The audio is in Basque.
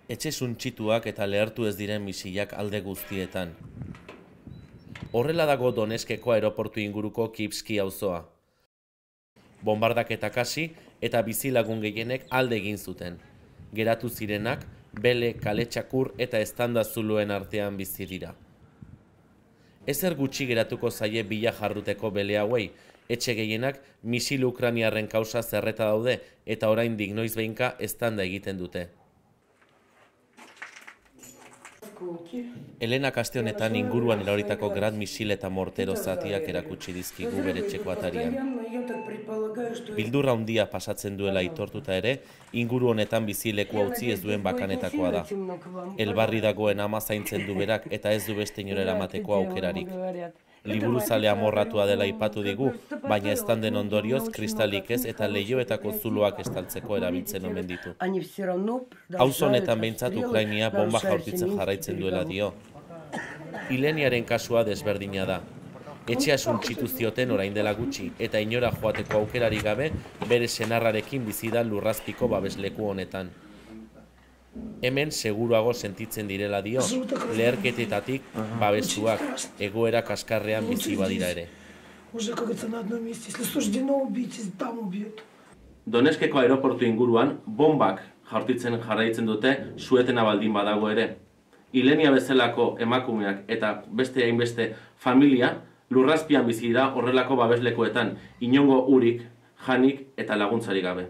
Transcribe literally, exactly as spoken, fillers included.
Etxe suntsituak eta lehertu ez diren misilak alde guztietan. Horrela dago Doneskeko aeroportu inguruko Kipski auzoa. Bombardaketak hasi eta bizilagun gehienek alde egin zuten. Geratu zirenak, bele, kaletxakur eta eztanda zuluen artean bizi dira. Ezer gutxi geratuko zaie bila jarruteko bele hauei, etxe gehienak misil ukraniarren kausa zerreta daude eta oraindik noizbehinka eztanda egiten dute. Elena aste honetan inguruan eraoritako grad misil eta mortero zatiak erakutsi dizkigu bere etxeko atarian. Bildurra handia pasatzen duela aitortuta ere, inguru honetan bizileku utzi ez duen bakanetakoa da. Elbarri dagoen ama zaintzen du berak eta ez du beste inora eramateko aukerarik. Liburuzale amorratua dela aipatu digu, baina eztanden ondorioz kristalik ez eta leihoetako zuloak estaltzeko erabiltzen omen ditu. Auzo honetan behintzat Ukrainia bomba jaurtitzen jarraitzen duela dio. Ileniaren kasua desberdina da. Etxea suntsitu zioten orain dela gutxi eta inora joateko aukerari gabe bere senarrarekin bizi da lurrazpiko babesleku honetan. Hemen seguruago sentitzen direla dio, leherketetatik babestuak, egoera kaskarrean bizi badira ere. Doneskeko aeroportu inguruan bombak jaurtitzen jarraitzen dute suetena baldin badago ere. Ilenia bezalako emakumeak eta beste hainbeste familia lurrazpian bizi dira horrelako babeslekoetan, inongo urik, janik eta laguntzarik gabe.